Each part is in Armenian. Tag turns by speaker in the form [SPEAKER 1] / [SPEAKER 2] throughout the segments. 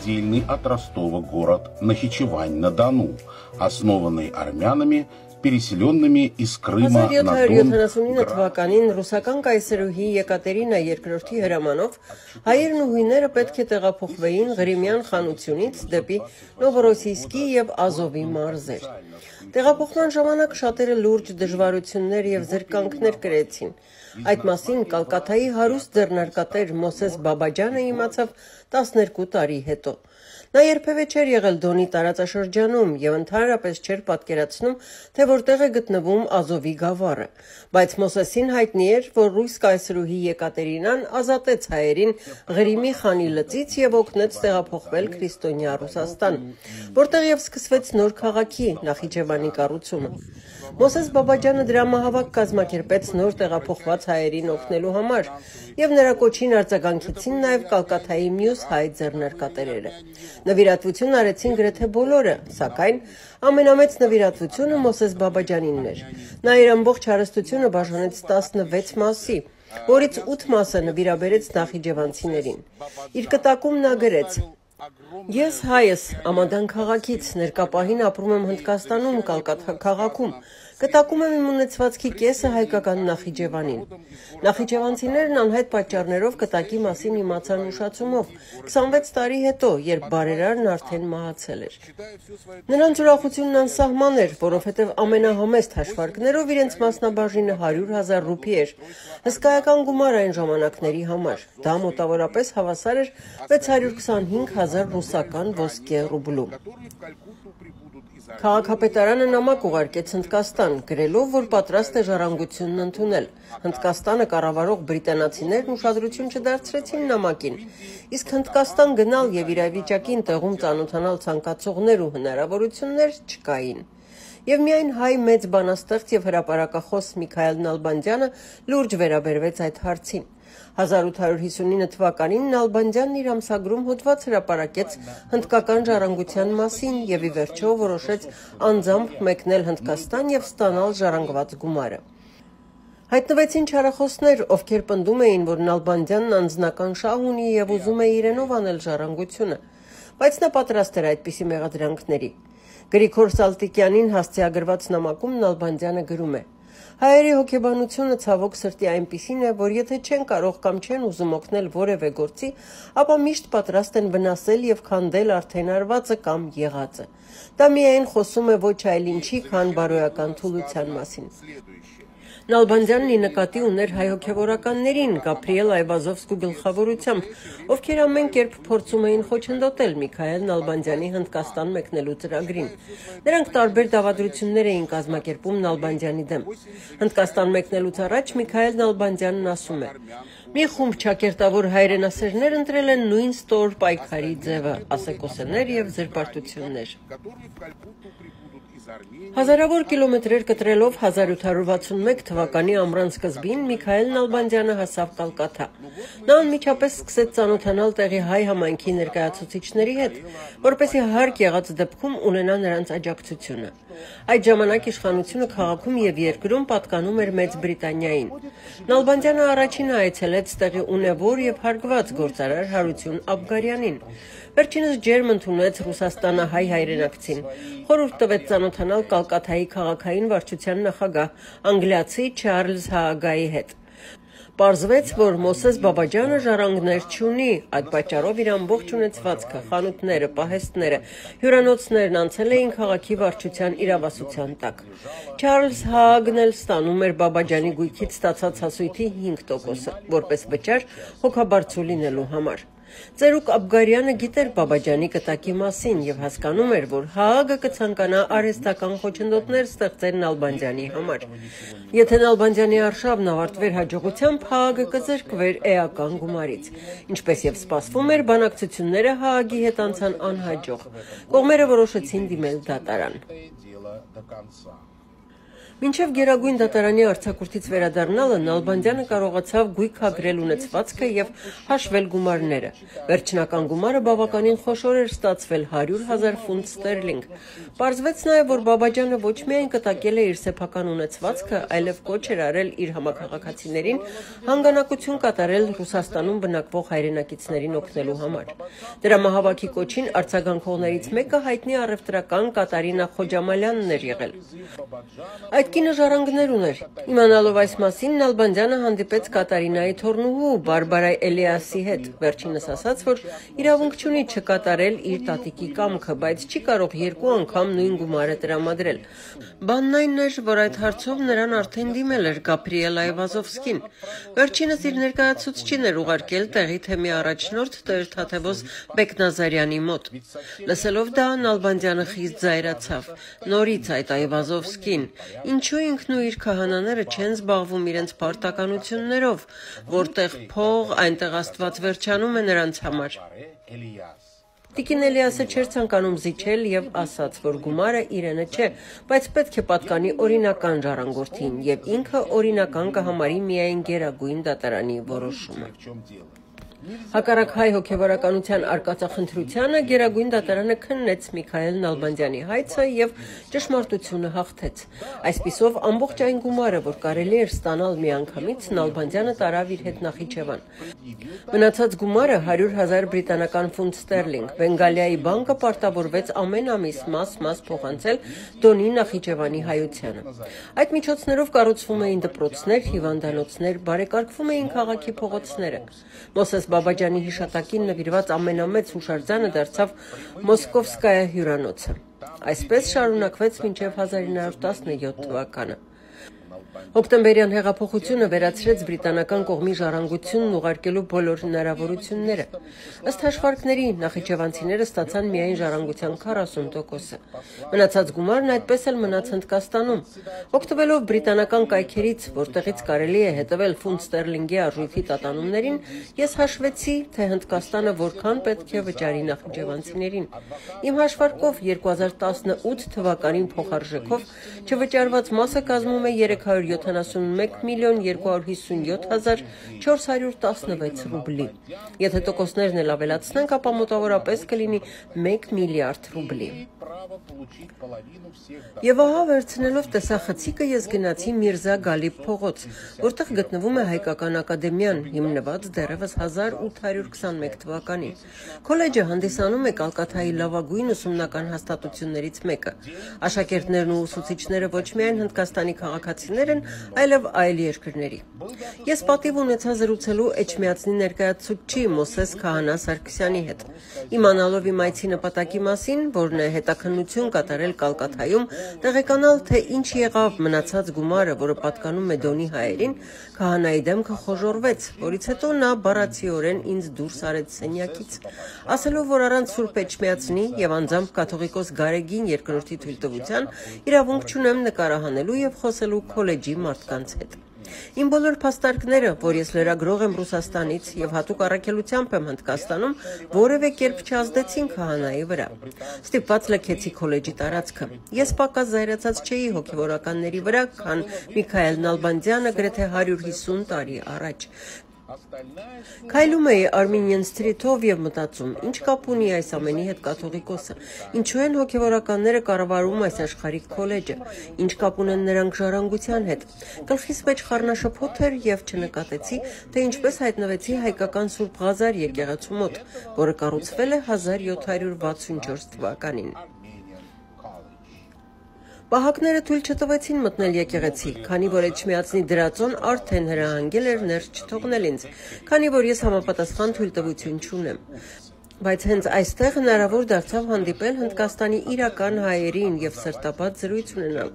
[SPEAKER 1] раздельный от Ростова город Нахичевань-на-Дону, основанный армянами, переселенными из Крыма на Дон.
[SPEAKER 2] 1779 թվականին ռուսական կայսրուհի Եկատերինա II-ի հրամանով հայերն ու հույները պետք է տեղափոխվեին Ղրիմյան խանությունից դեպի Նովորոսիյսկի եւ Ազովի մարզեր։ Տեղափոխման ժամանակ շատերը լուրջ դժվարություններ եւ զրկանքներ կրեցին։ Այդ մասին Կալկաթայի հարուստ ձեռնարկատեր Մոսես Բաբաջյանը իմացավ 12 տարի հետո։ Նա երբևէ չէր եղել Դոնի տարածաշրջանում եւ ընդհանրապես չէր պատկերացնում, թե որտեղ է գտնվում Ազովի գավառը, բայց Մոսեսին հայտնի էր, որ ռուս կայսրուհի Եկատերինան ազատեց հայերին Ղրիմի խանի լծից եւ օգնեց տեղափոխվել քրիստոնյա Ռուսաստան, որտեղ եւ սկսվեց նոր քաղաքի Նախիջևանի կառուցումը։ Մոսես Բաբաջյանը դրամահավաք կազմակերպեց նոր տեղափոխված հայերին օգնելու համար եւ նրա կոչին արձագանքեցին նաեւ Կալկաթայի մյուս հայ ձեռնարկատերերը։ Նվիրատվություն արեցին գրեթե բոլորը, սակայն ամենամեծ նվիրատվությունը Մոսես Բաբաջյանինն էր։ Նա իր ամբողջ հարստությունը բաժանեց 16 մասի, որից 8 մասը նվիրաբերեց նախիջևանցիներին։ Իր կտակում նա գրեց. Ես հայս Ամադան քաղաքից ներկապահին ապրում եմ Հնդկաստանում Կալկաթա քաղաքում։ Կտակում եմ իմ ունեցվածքի կեսը հայկական Նախիջևանին։ Նախիջևանցիներն անհայտ պատճառներով կտակի մասին իմացան ուշացումով 26 տարի հետո, երբ բարերարն արդեն մահացել էր։ Նրանց ուրախությունն անսահման էր, որովհետև ամենահամեստ հաշվարկներով իրենց մասնաբաժինը 100,000 ռուպի էր։ Հսկայական գումար այն ժամանակների համար։ Դա մոտավորապես հավասար էր 625,000 ռուսական ոսկե ռուբլու։ Քաղաքապետարանը նամակ ուղարկեց Հնդկաստան, գրելով, որ պատրաստ է ժառանգությունն ընդունել։ Հնդկաստանը կառավարող բրիտանացիներն ուշադրություն չդարձրեցին նամակին, իսկ Հնդկաստան գնալ եւ իրավիճակին տեղում ծանոթանալ ցանկացողներ ու հնարավորություններ չկային։ Եվ միայն հայ մեծ բանաստեղծ եւ հրապարակախոս Միքայել Նալբանդյանը լուրջ վերաբերվեց այդ հարցին։ 1859 թվականին Նալբանդյանն իր ամսագրում հոդված հրապարակեց հնդկական ժառանգության մասին եւ ի վերջո որոշեց անձամբ մեկնել Հնդկաստան եւ ստանալ ժառանգված գումարը։ Հայտնվեցին չարախոսներ, ովքեր պնդում էին, որ Նալբանդյանն անձնական շահ ունի եւ ուզում է իրենով անել ժառանգությունը, բայց նա պատրաստ էր այդպիսի մեղադրանքների։ Գրիգոր Սալտիկյանին հասցեագրված նամակում Նալբանդյանը գրում է. Հայերի հոգեբանությունը ցավոք սրտի այնպիսին է, որ եթե չեն կարող կամ չեն ուզում օգնել որևէ գործի, ապա միշտ պատրաստ են վնասել եւ քանդել արդեն արվածը կամ եղածը։ Դա միայն խոսում է ոչ այլ ինչի, քան բարոյական թուլության մասին։ Նալբանդյանն ի նկատի ուներ հայ հոգևորականներին Գաբրիել Այվազովսկու գլխավորությամբ, ովքեր ամեն կերպ փորձում էին խոչընդոտել Միքայել Նալբանդյանի Հնդկաստան մեկնելու ծրագրին։ Նրանք տարբեր դավադրություններ էին կազմակերպում Նալբանդյանի դեմ։ Հնդկաստան մեկնելուց առաջ Միքայել Նալբանդյանն ասում է. Մի խումբ ճակերտավոր հայրենասերներ ընտրել են նույն ստոր պայքարի ձևը, ասեկոսեներ եւ զրպարտություններ։ Հազարավոր կիլոմետրեր կտրելով 1861 թվականի ամռան սկզբին Միքայել Նալբանդյանը հասավ Կալկաթա։ Նա անմիջապես սկսեց ծանոթանալ տեղի հայ համայնքի ներկայացուցիչների հետ, որպեսզի հարկ եղած դեպքում ունենա նրանց աջակցությունը։ Այդ ժամանակ իշխանությունը քաղաքում եւ երկրում պատկանում էր Մեծ Բրիտանիային։ Նալբանդյանը առաջինը այցելեց տեղի ունևոր եւ հարգված գործարար Հարություն Աբգարյանին։ Վերջինս ջերմ ընդունեց Ռուսաստանահայ հայրենակցին, խորհուրդ տվեց ծանոթանալ Կալկաթայի քաղաքային վարչության նախագահ անգլիացի Չարլզ Հաագայի հետ։ Պարզվեց, որ Մոսես Բաբաջյանը ժառանգներ չունի, այդ պատճառով իր ամբողջ ունեցվածքը, խանութները, պահեստները, հյուրանոցներն անցել էին քաղաքի վարչության իրավասության տակ։ Չարլզ Հաագն էլ ստանում էր Բաբաջյանի գույքից ստացած հասույթի 5%-ը, որպես վճար հոգաբարձու լինելու համար։ Ծերուկ Աբգարյանը գիտեր Բաբաջյանի կտակի մասին եւ հասկանում էր, որ Հաագը կցանկանա արհեստական խոչընդոտներ ստեղծել Նալբանդյանի համար։ Եթե Նալբանդյանի արշավն ավարտվեր հաջողությամբ, Հաագը կզրկվեր էական գումարից։ Ինչպես եւ սպասվում էր, բանակցությունները Հաագի հետ անցան անհաջող։ Կողմերը որոշեցին դիմել դատարան։ Մինչև Գերագույն դատարանի արձակուրդից վերադառնալը Նալբանդյանը կարողացավ գույքագրել ունեցվածքը եւ հաշվել գումարները։ Վերջնական գումարը բավականին խոշոր էր ստացվել 100,000 ֆունտ ստերլինգ։ Պարզվեց նաեւ, որ Բաբաջյանը ոչ միայն կտակել է իր սեփական ունեցվածքը, այլև կոչ էր արել իր համակարգացիներին հանգանակություն կատարել Ռուսաստանում բնակվող հայրենակիցներին օգնելու համար։ Դրամահավաքի կոչին արձագանքողներից մեկը հայտնի առևտրական Կատարինա Խոջամալյանն էր եղել։ Այդ կինը ժառանգներ ուներ։ Իմանալով այս մասին, Նալբանդյանը հանդիպեց Կատարինայի թոռնուհու Բարբարա Էլիասի հետ, վերջինս ասաց, որ իրավունք չունի չկատարել իր տատիկի կամքը, բայց չի կարող երկու անգամ նույն գումարը տրամադրել։ Բանն այն էր, որ այդ հարցով նրան արդեն դիմել էր Գաբրիել Այվազովսկին։ Վերջինս իր ներկայացուցչին էր ուղարկել տեղի թեմի առաջնորդ Տեր Թաթևոս Բեկնազարյանի մոտ։ Լսելով դա, Նալբանդյանը խիստ զայրացավ։ Նորից այդ Այվազովսկին, ինչու ինքն ու իր քահանաները չեն զբաղվում իրենց պարտականություններով, որտեղ փող, այնտեղ Աստված վերջանում է նրանց համար։ Տիկին Էլիասը չէր ցանկանում զիջել եւ ասաց, որ գումարը իրենը չէ, բայց պետք է պատկանի օրինական ժառանգորդին եւ ինքը օրինական կհամարի միայն Գերագույն դատարանի որոշումը։ Հակառակ հայ հոգևորականության արկածախնդրությանը Գերագույն դատարանը քննեց Միքայել Նալբանդյանի հայցը եւ ճշմարտությունը հաղթեց։ Այսպիսով ամբողջ այն գումարը, որ կարելի էր ստանալ միանգամից, Նալբանդյանը տարավ իր հետ Նախիջևան։ Մնացած գումարը 100,000 բրիտանական ֆունտ ստերլինգ։ Բենգալիայի բանկը պարտավորվեց ամեն ամիս մաս փոխանցել Դոնի Նախիջևանի հայությանը։ Այդ միջոցներով կառուցվում էին դպրոցներ, հիվանդանոցներ, բարեկարգվում էին քաղաքի փողոցները։ Մոսես Բաբաջյանի հիշատակին նվիրված ամենամեծ հուշարձանը դարձավ Մոսկովսկայա հյուրանոցը։ Այսպես շարունակվեց մինչև 1917 թվականը։ Հոկտեմբերյան հեղափոխությունը վերացրեց բրիտանական կողմի ժառանգությունն ուղարկելու բոլոր հնարավորությունները։ Ըստ հաշվարկների, նախիջևանցիները ստացան միայն ժառանգության 40%-ը։ Մնացած գումարն այդպես էլ մնաց Հնդկաստանում։ Օգտվելով բրիտանական կայքերից, որտեղից կարելի է հետևել ֆունտ ստերլինգի արժույթի տատանումներին, ես հաշվեցի, թե Հնդկաստանը որքան պետք է վճարի նախիջևանցիներին։ Իմ հաշվարկով 2018 թվականին փոխարժեքով չվճարված մասը կազմում է 371,257,416 ռուբլի։ Եթե տոկոսներն էլ ավելացնենք, ապա մոտավորապես կլինի 1 միլիարդ ռուբլի։ Եվ ահա վերցնելով տեսախցիկը ես գնացի Միրզա Գալիբ փողոց, որտեղ գտնվում է Հայկական ակադեմիան, հիմնված դեռևս 1821 թվականին։ Քոլեջը հանդիսանում է Կալկաթայի լավագույն ուսումնական հաստատություններից մեկը։ Աշակերտներն ու ուսուցիչները ոչ միայն Հնդկաստանի քաղաքացիներ են, այլև այլ երկրների։ Ես պատիվ ունեցա զրուցելու Էջմիածնի ներկայացուցիչ Մոսես Քահանա Սարգսյանի հետ։ Իմանալով իմ այցի նպատակի մասին, որն է հետաքննություն կատարել Կալկաթայում, տեղեկանալ, թե ինչ եղավ մնացած գումարը, որը պատկանում է Դոնի հայերին, Քահանայի դեմքը խոժոռվեց, որից հետո նա բառացիորեն ինձ դուրս արեց սենյակից, ասելով, որ առանց Սուրբ Էջմիածնի եւ անձամբ կաթողիկոս Գարեգին երկրորդի թույլտվության իրավունք չունեմ նկարահանելու եւ խոսելու քոլեջի մարդկանց հետ։ Իմ բոլոր փաստարկները, որ ես լրագրող եմ Ռուսաստանից եւ հատուկ առաքելությամբ եմ Հնդկաստանում, որևէ կերպ չազդեցին Քահանայի վրա։ Ստիպված լքեցի քոլեջի տարածքը։ Ես պակաս զայրացած չէի հոգևորականների վրա, քան Միքայել Նալբանդյանը գրեթե 150 տարի առաջ։ Քայլում էի Armenian Street-ով եւ մտածում, ինչ կապ ունի այս ամենի հետ կաթողիկոսը, ինչու են հոգևորականները կառավարում այս աշխարհիկ քոլեջը, ինչ կապ ունեն նրանք ժառանգության հետ։ Գլխիս մեջ խառնաշփոթ էր եւ չնկատեցի, թե ինչպես հայտնվեցի հայկական Սուրբ Ղազար եկեղեցու մոտ, որը կառուցվել է 1764 թվականին։ Պահակները թույլ չտվեցին մտնել եկեղեցի, քանի որ Էջմիածնի դրածոն արդեն հրահանգել էր ներս չթողնել ինձ, քանի որ ես համապատասխան թույլտվություն չունեմ։ Բայց հենց այստեղ հնարավոր դարձավ հանդիպել Հնդկաստանի իրական հայերին եւ սրտապատ զրույց ունենալ։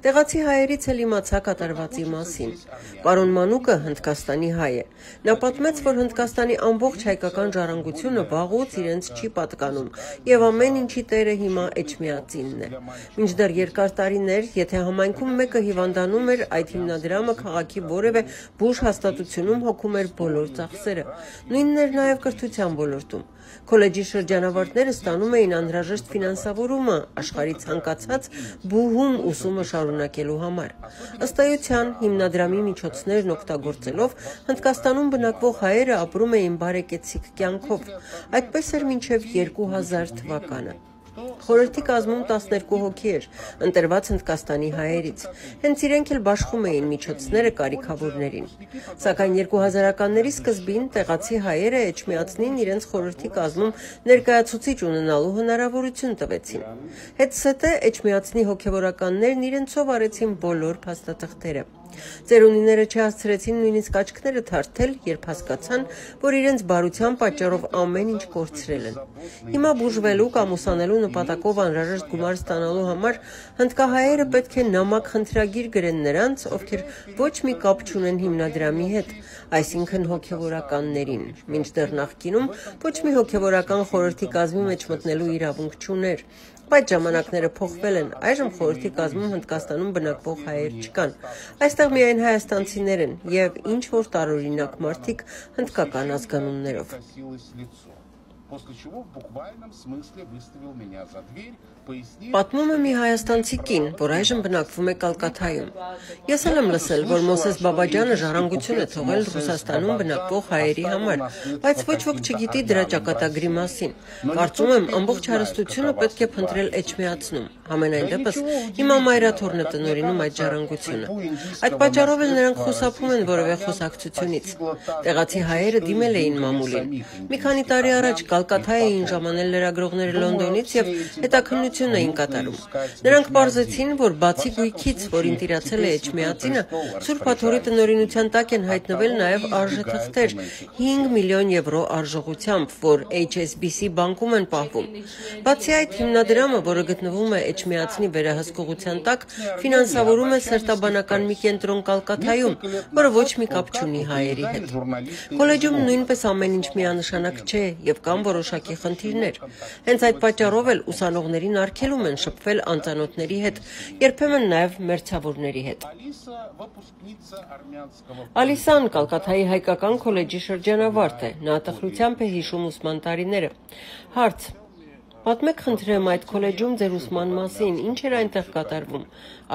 [SPEAKER 2] Տեղացի հայերից էլ իմացա կատարվածի մասին։ Պարոն Մանուկը Հնդկաստանի հայ է։ Նա պատմեց, որ Հնդկաստանի ամբողջ հայկական ժառանգությունը վաղուց իրենց չի պատկանում եւ ամեն ինչի տերը հիմա Էջմիածինն է։ Մինչդեռ երկար տարիներ, եթե համայնքում մեկը հիվանդանում էր, այդ հիմնադրամը քաղաքի որևէ բուժ հաստատությունում հոգում էր բոլոր ծախսերը։ Նույնն էր նաեւ կրթության ոլորտում։ Քոլեջի շրջանավարտները ստանում էին անհրաժեշտ ֆինանսավորումը աշխարհի ցանկացած բուհում ուսումը շարունակելու համար։ Ըստ էության, հիմնադրամի միջոցներն օգտագործելով Հնդկաստանում բնակվող հայերը ապրում էին բարեկեցիկ կյանքով։ Այդպես էր մինչև 2000 թվականը։ Խորհրդի կազմում 12 հոգի էր, ընտրված Հնդկաստանի հայերից։ Հենց իրենք էլ բաշխում էին միջոցները կարիքավորներին։ Սակայն 2000-ականների սկզբին տեղացի հայերը Էջմիածնին իրենց խորհրդի կազմում ներկայացուցիչ ունենալու հնարավորություն տվեցին։ Հետսետե Էջմիածնի հոգևորականներն իրենցով արեցին բոլոր փաստաթղթերը։ Ծերունիները չհասցրեցին նույնիսկ աչքները թարթել, երբ հասկացան, որ իրենց բարության պատճառով ամեն ինչ կորցրել են։ Հիմա բուժվելու կամ ուսանելու նպատակով անհրաժեշտ գումար ստանալու համար հնդկահայերը պետք է նամակ խնդրագիր գրեն նրանց, ովքեր ոչ մի կապ չունեն հիմնադրամի հետ, այսինքն հոգևորականներին, մինչդեռ նախկինում ոչ մի հոգևորական խորհրդի կազմի մեջ մտնելու իրավունք չուներ։ Բայց ժամանակները փոխվել են, այժմ խորհրդի կազմում Հնդկաստանում բնակվող հայեր չկան։ Այստեղ միայն հայաստանցիներ են եւ ինչ որ տարօրինակ մարդիկ հնդկական ազգանուններով։ Պատմում է մի հայաստանցի կին, որ այժմ բնակվում է Կալկաթայում։ Ես էլ եմ լսել, որ Մոսես Բաբաջանը ժառանգություն է թողել Ռուսաստանում բնակվող հայերի համար, բայց ոչ ոք չգիտի դրա ճակատագրի մասին։ Կարծում եմ, ամբողջ հարստությունը պետք է փնտրել Էջմիածնում։ Համենայն դեպս, հիմա մայրաթորն է տնօրինում այդ ժառանգությունը։ Այդ պատճառով էլ նրանք խուսափում են որևէ խոսակցությունից։ Տեղացի հայերը դիմել էին մամուլին։ Մի քանի տարի առաջ Կալկաթա էին ժամանել լրագրողները Լոնդոնից եւ հետաքննություն էին կատարում։ Նրանք պարզեցին, որ բացի գույքից, որին տիրացել է Էջմիածինը, Սուրբ Աթոռի տնօրինության տակ են հայտնվել նաեւ արժեթղթեր 5 միլիոն եվրո արժողությամբ, որ HSBC բանկում են պահվում։ Բացի այդ, հիմնադրամը, որը գտնվում է Էջմիածնի վերահսկողության տակ, ֆինանսավորում է սերտաբանական մի կենտրոն Կալկաթայում, որը ոչ մի կապ չունի հայերի հետ։ Քոլեջում նույնպես ամեն ինչ միանշանակ չէ եւ կան որոշակի խնդիրներ։ Հենց այդ պատճառով էլ ուսանողներին արգելում են շփվել անծանոթների հետ, երբեմն նաեւ մերձավորների հետ։ Ալիսան Կալկաթայի հայկական քոլեջի շրջանավարտ է, նա տխրությամբ է հիշում ուսման տարիները։ Հարց. Պատմեք խնդրեմ այդ քոլեջում ձեր ուսման մասին, ինչ էր այնտեղ կատարվում։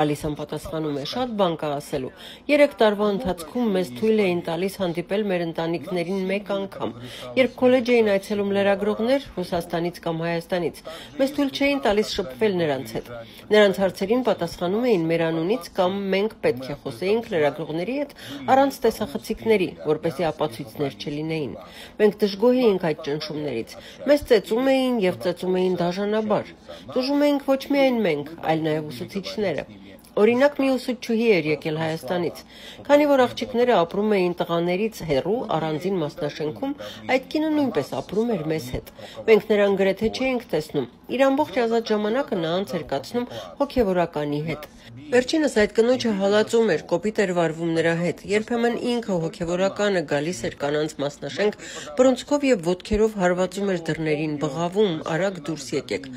[SPEAKER 2] Ալիսան պատասխանում է, շատ բան կա ասելու։ 3 տարվա ընթացքում մեզ թույլ էին տալիս հանդիպել մեր ընտանիքներին մեկ անգամ։ Երբ քոլեջ էին այցելում լրագրողներ Ռուսաստանից կամ Հայաստանից, մեզ թույլ չէին տալիս շփվել նրանց հետ։ Նրանց հարցերին պատասխանում էին մեր անունից կամ մենք պետք է խոսեինք լրագրողների հետ առանց տեսախցիկների, որպեսզի ապացույցներ չլինեին։ Մենք դժգոհ էինք այդ ճնշումներից։ Մեզ ծեծում էին եւ ծեծում էին դաժանաբար։ Դժում էինք ոչ միայն մենք, այլ նաեւ ուսուցիչները։ Օրինակ մի ուսուցչուհի էր եկել Հայաստանից։ Քանի որ աղջիկները ապրում էին տղաներից հեռու առանձին մասնաշենքում, այդ կինը նույնպես ապրում էր մեզ հետ։ Մենք նրան գրեթե չէինք տեսնում։ Իր ամբողջ ազատ ժամանակը նա անց էր կացնում հոգևորականի հետ։ Վերջինս այդ կնոջը հալածում էր, կոպիտ էր վարվում նրա հետ։ Երբեմն ինքը հոգևորականը գալիս էր կանանց մասնաշենք, բռունցքով եւ ոտքերով հարվածում էր դռներին, բղավում, արագ դուրս եկեք։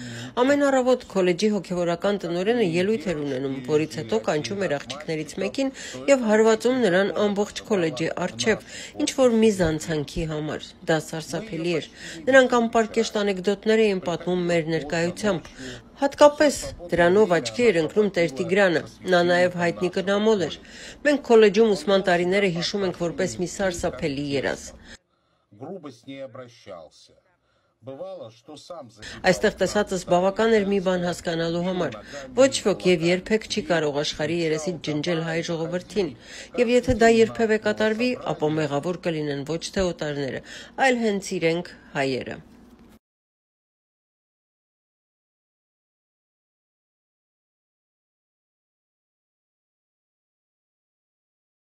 [SPEAKER 2] Ամեն առավոտ քոլեջի հոգևորական տնօրենը ելույթ էր ունենում, որից հետո կանչում էր աղջիկներից մեկին եւ հարվածում նրան ամբողջ քոլեջի առջև, ինչ որ մի զանցանքի համար։ Դա սարսափելի էր։ Նրանք անպարկեշտ անեկդոտներ էին պատմում մեր ներկայությամբ։ Հատկապես դրանով աչքի էր ընկնում Տեր Տիգրանը, նա նաև հայտնի կնամոլ էր։ Մենք քոլեջում ուսման տարիները հիշում ենք որպես մի սարսափելի երազ։ Այստեղ տեսածս բավական էր մի բան հասկանալու համար։ Ոչ ոք եւ երբեք չի կարող աշխարհի երեսից ջնջել հայ ժողովրդին, եւ եթե դա երբևէ կատարվի, ապա մեղավոր կլինեն ոչ թե օտարները, այլ հենց իրենք հայերը։